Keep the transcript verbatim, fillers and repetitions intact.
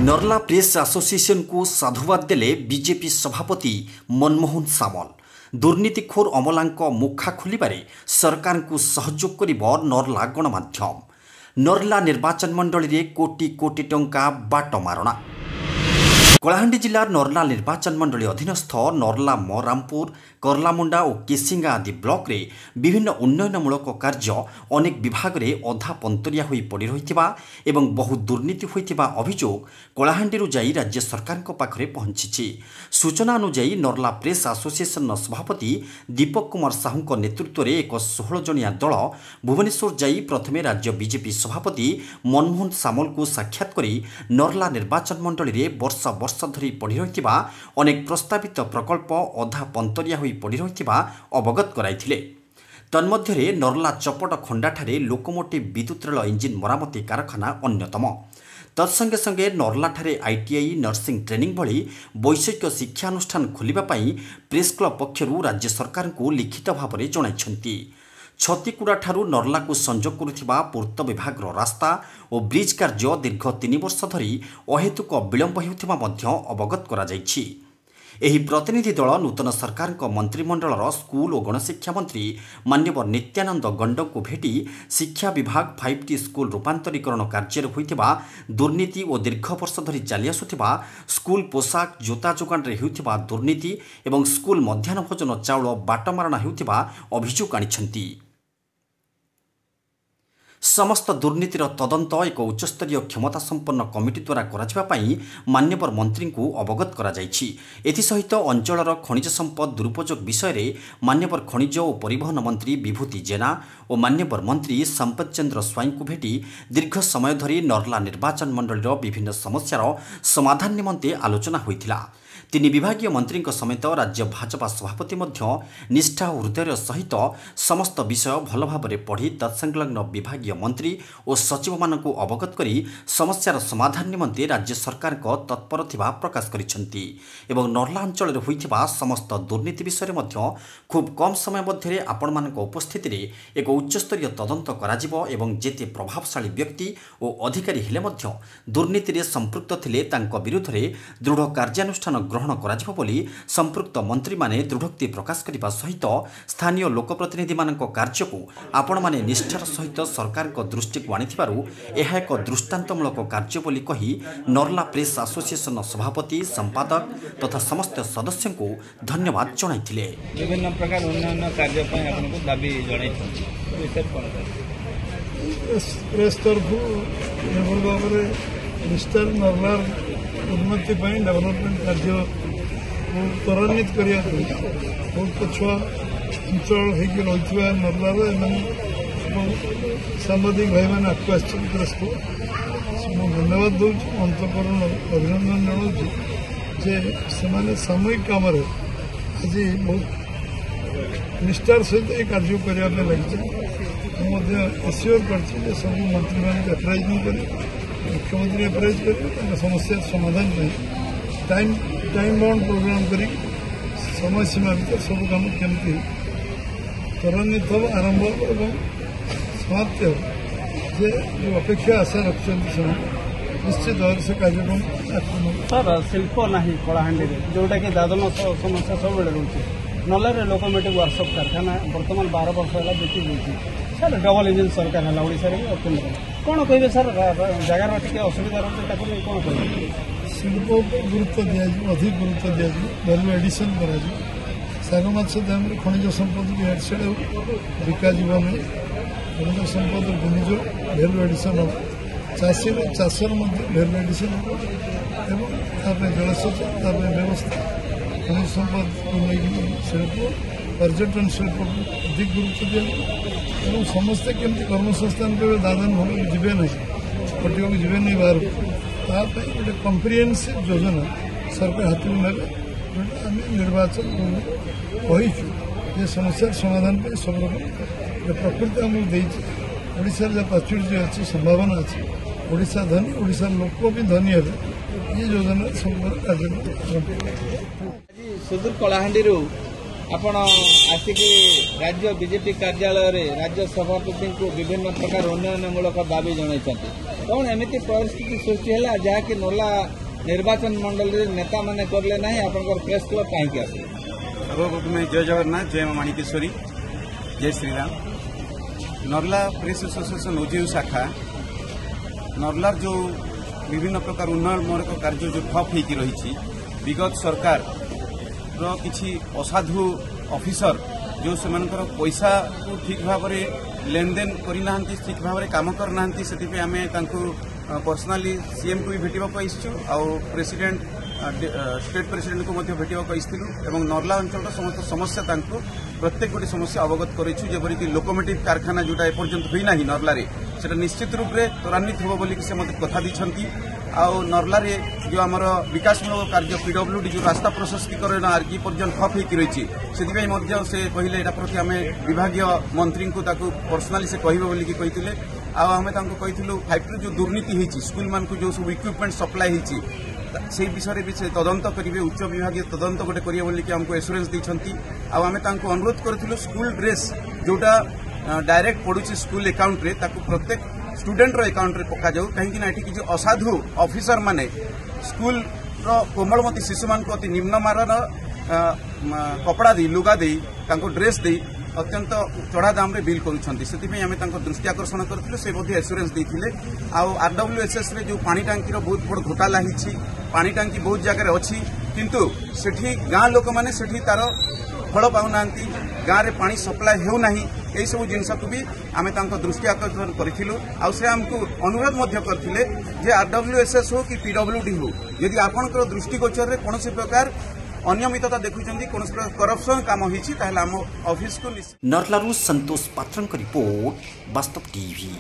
Narla press ଆସୋସିଏସନକୁ ସାଧୁବାଦ ଦେଲେ BJP ସଭାପତି ମନମୋହନ ସାମଲ। ଦୁର୍ନୀତିଖୋର ଅମଲାଙ୍କ ମୁଖା ଖୋଲିବାରେ ସରକାରଙ୍କୁ ସହଯୋଗ କରିବ ନର୍ଲା ଗଣମାଧ୍ୟମ। ନର୍ଲା ନିର୍ବାଚନ ମଣ୍ଡଳୀରେ କୋଟି କୋଟି ଟଙ୍କା ବାଟ ମାରଣା। କଳାହାଣ୍ଡି ଜିଲ୍ଲା ନର୍ଲା ନିର୍ବାଚନ ମଣ୍ଡଳୀ ଅଧୀନସ୍ଥ ନର୍ଲା, ମରାମପୁର, କର୍ଲାମୁଣ୍ଡା ଓ କେସିଙ୍ଗା ଆଦି ବ୍ଲକରେ ବିଭିନ୍ନ ଉନ୍ନୟନମୂଳକ କାର୍ଯ୍ୟ ଅନେକ ବିଭାଗରେ ଅଧା ପନ୍ତରିଆ ହୋଇ ପଡ଼ି ରହିଥିବା ଏବଂ ବହୁ ଦୁର୍ନୀତି ହୋଇଥିବା ଅଭିଯୋଗ କଳାହାଣ୍ଡିରୁ ଯାଇ ରାଜ୍ୟ ସରକାରଙ୍କ ପାଖରେ ପହଞ୍ଚିଛି। ସୂଚନା ଅନୁଯାୟୀ, ନର୍ଲା ପ୍ରେସ୍ ଆସୋସିଏସନର ସଭାପତି ଦୀପକ କୁମାର ସାହୁଙ୍କ ନେତୃତ୍ୱରେ ଏକ ଷୋହଳ ଜଣିଆ ଦଳ ଭୁବନେଶ୍ୱର ଯାଇ ପ୍ରଥମେ ରାଜ୍ୟ ବିଜେପି ସଭାପତି ମନମୋହନ ସାମଲଙ୍କୁ ସାକ୍ଷାତ କରି ନର୍ଲା ନିର୍ବାଚନ ମଣ୍ଡଳୀରେ ବର୍ଷ ବର୍ଷ ଧରି ପଡ଼ି ରହିଥିବା ଅନେକ ପ୍ରସ୍ତାବିତ ପ୍ରକଳ୍ପ ଅଧା ପନ୍ତରିଆ ହୋଇ ପଡ଼ି ରହିଥିବା ଅବଗତ କରାଇଥିଲେ। ତନ୍ମଧ୍ୟରେ ନର୍ଲା ଚପଟ ଖଣ୍ଡାଠାରେ ଲୋକମୋଟିଭ୍ ବିଦ୍ୟୁତ୍ ରେଳ ଇଞ୍ଜିନ୍ ମରାମତି କାରଖାନା ଅନ୍ୟତମ। ତତ୍ସଙ୍ଗେ ସଙ୍ଗେ ନର୍ଲାଠାରେ ଆଇଟିଆଇ, ନର୍ସିଂ ଟ୍ରେନିଂ ଭଳି ବୈଷୟିକ ଶିକ୍ଷାନୁଷ୍ଠାନ ଖୋଲିବା ପାଇଁ ପ୍ରେସ୍ କ୍ଲବ୍ ପକ୍ଷରୁ ରାଜ୍ୟ ସରକାରଙ୍କୁ ଲିଖିତ ଭାବରେ ଜଣାଇଛନ୍ତି। ଛତିକୁଡ଼ାଠାରୁ ନର୍ଲାକୁ ସଂଯୋଗ କରୁଥିବା ପୂର୍ତ୍ତ ବିଭାଗର ରାସ୍ତା ଓ ବ୍ରିଜ୍ କାର୍ଯ୍ୟ ଦୀର୍ଘ ତିନି ବର୍ଷ ଧରି ଅହେତୁକ ବିଳମ୍ବ ହେଉଥିବା ମଧ୍ୟ ଅବଗତ କରାଯାଇଛି। ଏହି ପ୍ରତିନିଧି ଦଳ ନୂତନ ସରକାରଙ୍କ ମନ୍ତ୍ରିମଣ୍ଡଳର ସ୍କୁଲ ଓ ଗଣଶିକ୍ଷା ମନ୍ତ୍ରୀ ମାନ୍ୟବର ନିତ୍ୟାନନ୍ଦ ଗଣ୍ଡଙ୍କୁ ଭେଟି ଶିକ୍ଷା ବିଭାଗ ଫାଇଭ୍ ଟି ସ୍କୁଲ ରୂପାନ୍ତରୀକରଣ କାର୍ଯ୍ୟରେ ହୋଇଥିବା ଦୁର୍ନୀତି ଓ ଦୀର୍ଘ ବର୍ଷ ଧରି ଚାଲିଆସୁଥିବା ସ୍କୁଲ ପୋଷାକ, ଜୋତା ଯୋଗାଣରେ ହେଉଥିବା ଦୁର୍ନୀତି ଏବଂ ସ୍କୁଲ ମଧ୍ୟାହ୍ନ ଭୋଜନ ଚାଉଳ ବାଟମାରଣା ହେଉଥିବା ଅଭିଯୋଗ ଆଣିଛନ୍ତି। ସମସ୍ତ ଦୁର୍ନୀତିର ତଦନ୍ତ ଏକ ଉଚ୍ଚସ୍ତରୀୟ କ୍ଷମତାସମ୍ପନ୍ନ କମିଟି ଦ୍ୱାରା କରାଯିବା ପାଇଁ ମାନ୍ୟବର ମନ୍ତ୍ରୀଙ୍କୁ ଅବଗତ କରାଯାଇଛି। ଏଥିସହିତ ଅଞ୍ଚଳର ଖଣିଜ ସମ୍ପଦ ଦୁରୁପଯୋଗ ବିଷୟରେ ମାନ୍ୟବର ଖଣିଜ ଓ ପରିବହନ ମନ୍ତ୍ରୀ ବିଭୂତି ଜେନା ଓ ମାନ୍ୟବର ମନ୍ତ୍ରୀ ସମ୍ପଦ ଚନ୍ଦ୍ର ସ୍ୱାଇଁଙ୍କୁ ଭେଟି ଦୀର୍ଘ ସମୟ ଧରି ନର୍ଲା ନିର୍ବାଚନ ମଣ୍ଡଳୀର ବିଭିନ୍ନ ସମସ୍ୟାର ସମାଧାନ ନିମନ୍ତେ ଆଲୋଚନା ହୋଇଥିଲା। ତିନି ବିଭାଗୀୟ ମନ୍ତ୍ରୀଙ୍କ ସମେତ ରାଜ୍ୟ ଭାଜପା ସଭାପତି ମଧ୍ୟ ନିଷ୍ଠା ଓ ହୃଦୟର ସହିତ ସମସ୍ତ ବିଷୟ ଭଲ ଭାବରେ ପଢ଼ି ତତ୍ସଂଲଗ୍ନ ବିଭାଗୀୟ ମନ୍ତ୍ରୀ ଓ ସଚିବମାନଙ୍କୁ ଅବଗତ କରି ସମସ୍ୟାର ସମାଧାନ ନିମନ୍ତେ ରାଜ୍ୟ ସରକାରଙ୍କ ତତ୍ପର ଥିବା ପ୍ରକାଶ କରିଛନ୍ତି ଏବଂ ନର୍ଲା ଅଞ୍ଚଳରେ ହୋଇଥିବା ସମସ୍ତ ଦୁର୍ନୀତି ବିଷୟରେ ମଧ୍ୟ ଖୁବ୍ କମ୍ ସମୟ ମଧ୍ୟରେ ଆପଣମାନଙ୍କ ଉପସ୍ଥିତିରେ ଏକ ଉଚ୍ଚସ୍ତରୀୟ ତଦନ୍ତ କରାଯିବ ଏବଂ ଯେତେ ପ୍ରଭାବଶାଳୀ ବ୍ୟକ୍ତି ଓ ଅଧିକାରୀ ହେଲେ ମଧ୍ୟ ଦୁର୍ନୀତିରେ ସମ୍ପୃକ୍ତ ଥିଲେ ତାଙ୍କ ବିରୁଦ୍ଧରେ ଦୃଢ଼ କାର୍ଯ୍ୟାନୁଷ୍ଠାନ ଗ୍ରହଣ କରାଯିବ ବୋଲି ସମ୍ପୃକ୍ତ ମନ୍ତ୍ରୀମାନେ ଦୃଢ଼ୋକ୍ତି ପ୍ରକାଶ କରିବା ସହିତ ସ୍ଥାନୀୟ ଲୋକପ୍ରତିନିଧିମାନଙ୍କ କାର୍ଯ୍ୟକୁ ଆପଣମାନେ ନିଷ୍ଠାର ସହିତ ସରକାରଙ୍କ ଦୃଷ୍ଟିକୁ ଆଣିଥିବାରୁ ଏହା ଏକ ଦୃଷ୍ଟାନ୍ତମୂଳକ କାର୍ଯ୍ୟ ବୋଲି କହି ନର୍ଲା ପ୍ରେସ୍ ଆସୋସିଏସନର ସଭାପତି, ସମ୍ପାଦକ ତଥା ସମସ୍ତ ସଦସ୍ୟଙ୍କୁ ଧନ୍ୟବାଦ ଜଣାଇଥିଲେ। ବିଭିନ୍ନ ପ୍ରକାର ଉନ୍ନୟନ କାର୍ଯ୍ୟ ପାଇଁ ଆପଣଙ୍କୁ ଦାବି ଜଣାଇଛନ୍ତି, ବିଷୟରେ କ'ଣ କହିବେ? ପ୍ରେସ୍ ତରଫରୁ ଯେଭଳି ଭାବରେ ମିଷ୍ଟର ନର୍ଲାର ଉନ୍ନତି ପାଇଁ ଡେଭଲପମେଣ୍ଟ କାର୍ଯ୍ୟକୁ ତ୍ୱରାନ୍ୱିତ କରିବା ପାଇଁ, ବହୁତ ପଛୁଆ ଅଞ୍ଚଳ ହେଇକି ରହିଥିବା ନର୍ଲାର ଏମାନେ ଏବଂ ସାମ୍ବାଦିକ ଭାଇମାନେ ଆଗକୁ ଆସିଛନ୍ତି ପ୍ରେସ୍କୁ, ମୁଁ ଧନ୍ୟବାଦ ଦେଉଛି, ଅନ୍ତଃକରଣ ଅଭିନନ୍ଦନ ଜଣାଉଛି ଯେ ସେମାନେ ସାମୂହିକ କାମରେ ଆଜି ବହୁତ ନିଷ୍ଠାର ସହିତ ଏ କାର୍ଯ୍ୟ କରିବା ପାଇଁ ଲାଗିଛନ୍ତି। ମୁଁ ମଧ୍ୟ ଏସିଓର କରିଛି ଯେ ସବୁ ମନ୍ତ୍ରୀମାନଙ୍କୁ ଆପ୍ରାଇଜ୍ ମୁଁ କରିବି, ମୁଖ୍ୟମନ୍ତ୍ରୀ ଆପ୍ରାଇଜ୍ କରିବେ, ତାଙ୍କ ସମସ୍ୟାର ସମାଧାନ ପାଇଁ ଟାଇମ୍ ଟାଇମ୍ ବାଉଣ୍ଡ ପ୍ରୋଗ୍ରାମ କରିକି ସମୟ ସୀମା ଭିତରେ ସବୁ କାମ କେମିତି ତ୍ୱରାନ୍ୱିତ ହେବ, ଆରମ୍ଭ ହେବ ଏବଂ ସମାପ୍ତି ହେବ, ଯେ ଯେଉଁ ଅପେକ୍ଷା ଆଶା ରଖିଛନ୍ତି ସେମାନେ ନିଶ୍ଚିତ ଭାବରେ ସେ କାର୍ଯ୍ୟକ୍ରମ ଆଗକୁ ନେବ। ସାର୍, ଶିଳ୍ପ ନାହିଁ କଳାହାଣ୍ଡିରେ, ଯେଉଁଟାକି ଦାଦନ ସମସ୍ୟା ସବୁବେଳେ ରହୁଛି। ନର୍ଲାରେ ଲୋକୋମୋଟିଭ୍ ୱାର୍କସପ୍ କାରଖାନା ବର୍ତ୍ତମାନ ବାର ବର୍ଷ ହେଲା ବିକି ଯାଇଛି। ସାର୍, ଡବଲ ଇଞ୍ଜିନ୍ ସରକାର ହେଲା ଓଡ଼ିଶାରେ ବି କେନ୍ଦ୍ରରେ, କ'ଣ କହିବେ ସାର୍? ଜାଗାର ଟିକେ ଅସୁବିଧା ରହୁଛି, ତାକୁ ନେଇ କ'ଣ କହିବେ? ଶିଳ୍ପ ଉପରେ ଗୁରୁତ୍ୱ ଦିଆଯିବ, ଅଧିକ ଗୁରୁତ୍ୱ ଦିଆଯିବ, ଭ୍ୟାଲୁ ଏଡିସନ୍ କରାଯିବ। ଶାଗ ମାଛ ଦାମରେ ଖଣିଜ ସମ୍ପଦକୁ ଇଆଡ଼େ ସିଆଡ଼େ ବିକାଯିବ ନାହିଁ। ଖଣିଜ ସମ୍ପଦର ବିନିଯୋଗ, ଭ୍ୟାଲୁ ଏଡିସନ୍ ହେବ, ଚାଷୀର ଚାଷର ମଧ୍ୟ ଭ୍ୟାଲୁ ଏଡିସନ୍ ହେବ ଏବଂ ତା ପାଇଁ ଜଳସେଚନ, ତା ପାଇଁ ବ୍ୟବସ୍ଥା, ଖଣିଜ ସମ୍ପଦକୁ ନେଇକି ଶିଳ୍ପ, ପର୍ଯ୍ୟଟନ ଶିଳ୍ପକୁ ଅଧିକ ଗୁରୁତ୍ୱ ଦିଆଯିବ ଏବଂ ସମସ୍ତେ କେମିତି କର୍ମସଂସ୍ଥାନ ପାଇବେ, ଦାଦନ ଭୂମିକୁ ଯିବେ ନାହିଁ, ଖଟିବାକୁ ଯିବେ ନାହିଁ ବାହାରକୁ, ତା ପାଇଁ ଗୋଟେ କମ୍ପ୍ରିହେନ୍ସିଭ୍ ଯୋଜନା ସରକାର ହାତକୁ ନେବେ, ଯେଉଁଟା ଆମେ ନିର୍ବାଚନ କହିଛୁ ଯେ ସମସ୍ୟାର ସମାଧାନ ପାଇଁ ସବୁ ରକମ ଗୋଟେ ପ୍ରକୃତି ଆମକୁ ଦେଇଛି। ଓଡ଼ିଶାର ଯାହା ପ୍ରାଚୁର୍ଯ୍ୟ ଅଛି, ସମ୍ଭାବନା ଅଛି, ଓଡ଼ିଶା ଧନୀ, ଓଡ଼ିଶାର ଲୋକ ବି ଧନୀ ହେବେ, ଏ ଯୋଜନାରେ ସବୁ କାର୍ଯ୍ୟକ୍ରମ ଆରମ୍ଭ। ଆଜି ସୁଦୂର କଳାହାଣ୍ଡିରୁ ଆପଣ ଆସିକି ରାଜ୍ୟ ବିଜେପି କାର୍ଯ୍ୟାଳୟରେ ରାଜ୍ୟ ସଭାପତିଙ୍କୁ ବିଭିନ୍ନ ପ୍ରକାର ଉନ୍ନୟନମୂଳକ ଦାବି ଜଣାଇଛନ୍ତି। କ'ଣ ଏମିତି ପରିସ୍ଥିତି ସୃଷ୍ଟି ହେଲା ଯାହାକି ନର୍ଲା ନିର୍ବାଚନ ମଣ୍ଡଳୀରେ ନେତାମାନେ କଲେ ନାହିଁ, ଆପଣଙ୍କର ପ୍ରେସ୍ କ୍ଲବ୍ କାହିଁକି ଆସିଲେ? ସର୍ବପ୍ରଥମେ ଜୟ ଜଗନ୍ନାଥ, ଜୟ ମା ମାଣିକେଶ୍ୱରୀ, ଜୟ ଶ୍ରୀରାମ। ନର୍ଲା ପ୍ରେସ୍ ଆସୋସିଏସନ୍ ଓଜେୟୁ ଶାଖା ନର୍ଲାର ଯେଉଁ ବିଭିନ୍ନ ପ୍ରକାର ଉନ୍ନୟନମୂଳକ କାର୍ଯ୍ୟ ଯେଉଁ ଠପ୍ ହେଇକି ରହିଛି, ବିଗତ ସରକାରର କିଛି ଅସାଧୁ ଅଫିସର ଯେଉଁ ସେମାନଙ୍କର ପଇସାକୁ ଠିକ୍ ଭାବରେ ଲେନଦେନ କରିନାହାନ୍ତି, ଠିକ୍ ଭାବରେ କାମ କରିନାହାନ୍ତି, ସେଥିପାଇଁ ଆମେ ତାଙ୍କୁ ପର୍ସନାଲି ସିଏମ୍କୁ ବି ଭେଟିବାକୁ ଆସିଛୁ ଆଉ ପ୍ରେସିଡେଣ୍ଟ ଷ୍ଟେଟ୍ ପ୍ରେସିଡେଣ୍ଟକୁ ମଧ୍ୟ ଭେଟିବାକୁ ଆସିଥିଲୁ ଏବଂ ନର୍ଲା ଅଞ୍ଚଳର ସମସ୍ତ ସମସ୍ୟା ତାଙ୍କୁ ପ୍ରତ୍ୟେକ ଗୋଟି ସମସ୍ୟା ଅବଗତ କରିଛୁ। ଯେପରିକି ଲୋକୋମୋଟିଭ୍ କାରଖାନା ଯେଉଁଟା ଏପର୍ଯ୍ୟନ୍ତ ହୋଇନାହିଁ ନର୍ଲାରେ, ସେଟା ନିଶ୍ଚିତ ରୂପରେ ତ୍ୱରାନ୍ୱିତ ହେବ ବୋଲିକି ସେ ମୋତେ କଥା ଦେଇଛନ୍ତି। ଆଉ ନର୍ଲାରେ ଯେଉଁ ଆମର ବିକାଶମୂଳକ କାର୍ଯ୍ୟ ପିଡବ୍ଲ୍ୟୁଡି ଯେଉଁ ରାସ୍ତା ପ୍ରଶସ୍ତିକରଣ ଆଜି ପର୍ଯ୍ୟନ୍ତ ଠପ୍ ହେଇକି ରହିଛି, ସେଥିପାଇଁ ମଧ୍ୟ ସେ କହିଲେ ଏଇଟା ପ୍ରତି ଆମେ ବିଭାଗୀୟ ମନ୍ତ୍ରୀଙ୍କୁ ତାକୁ ପର୍ସନାଲି ସେ କହିବେ ବୋଲିକି କହିଥିଲେ। ଆଉ ଆମେ ତାଙ୍କୁ କହିଥିଲୁ ଫାଇଭ୍ ଟୁ ଯେଉଁ ଦୁର୍ନୀତି ହେଇଛି, ସ୍କୁଲମାନଙ୍କୁ ଯେଉଁ ସବୁ ଇକ୍ୱିପମେଣ୍ଟ ସପ୍ଲାଏ ହେଇଛି, ସେଇ ବିଷୟରେ ବି ସେ ତଦନ୍ତ କରିବେ, ଉଚ୍ଚ ବିଭାଗୀୟ ତଦନ୍ତ ଗୋଟେ କରିବେ ବୋଲିକି ଆମକୁ ଏସୁରାନ୍ସ ଦେଇଛନ୍ତି। ଆଉ ଆମେ ତାଙ୍କୁ ଅନୁରୋଧ କରିଥିଲୁ ସ୍କୁଲ ଡ୍ରେସ୍ ଯେଉଁଟା ଡାଇରେକ୍ଟ ପଡୁଛି ସ୍କୁଲ ଆକାଉଣ୍ଟରେ, ତାକୁ ପ୍ରତ୍ୟେକ ଷ୍ଟୁଡେଣ୍ଟର ଆକାଉଣ୍ଟରେ ପକାଯାଉ, କାହିଁକିନା ଏଠି କିଛି ଅସାଧୁ ଅଫିସର ମାନେ ସ୍କୁଲର କୋମଳମତୀ ଶିଶୁମାନଙ୍କୁ ଅତି ନିମ୍ନମାନର କପଡ଼ା ଦେଇ, ଲୁଗା ଦେଇ, ତାଙ୍କୁ ଡ୍ରେସ୍ ଦେଇ ଅତ୍ୟନ୍ତ ଚଢ଼ା ଦାମରେ ବିଲ୍ କରୁଛନ୍ତି। ସେଥିପାଇଁ ଆମେ ତାଙ୍କ ଦୃଷ୍ଟି ଆକର୍ଷଣ କରିଥିଲୁ, ସେ ମଧ୍ୟ ଏସୁରାନ୍ସ ଦେଇଥିଲେ। ଆଉ ଆରଡବ୍ଲ୍ୟୁଏସ୍ଏସ୍ରେ ଯେଉଁ ପାଣି ଟାଙ୍କିର ବହୁତ ବଡ଼ ଘୋଟାଲା ହେଇଛି, ପାଣି ଟାଙ୍କି ବହୁତ ଜାଗାରେ ଅଛି କିନ୍ତୁ ସେଠି ଗାଁ ଲୋକମାନେ ସେଠି ତାର ଫଳ ପାଉନାହାନ୍ତି, ଗାଁରେ ପାଣି ସପ୍ଲାଏ ହେଉନାହିଁ, ଏଇସବୁ ଜିନିଷକୁ ବି ଆମେ ତାଙ୍କ ଦୃଷ୍ଟି ଆକର୍ଷଣ କରିଥିଲୁ। ଆଉ ସେ ଆମକୁ ଅନୁରୋଧ ମଧ୍ୟ କରିଥିଲେ ଯେ ଆରଡବ୍ଲ୍ୟୁଏସ୍ଏସ୍ ହଉ କି ପିଡବ୍ଲ୍ୟୁଡି ହଉ, ଯଦି ଆପଣଙ୍କର ଦୃଷ୍ଟିଗୋଚରରେ କୌଣସି ପ୍ରକାର ଅନିୟମିତତା ଦେଖୁଛନ୍ତି, କୌଣସି ପ୍ରକାର କରପ୍ସନ କାମ ହେଇଛି, ତାହେଲେ ଆମ ଅଫିସକୁ ନର୍ଲାରୁ ସନ୍ତୋଷ ପାତ୍ରଙ୍କ ରିପୋର୍ଟ, ବାସ୍ତବ ଟିଭି।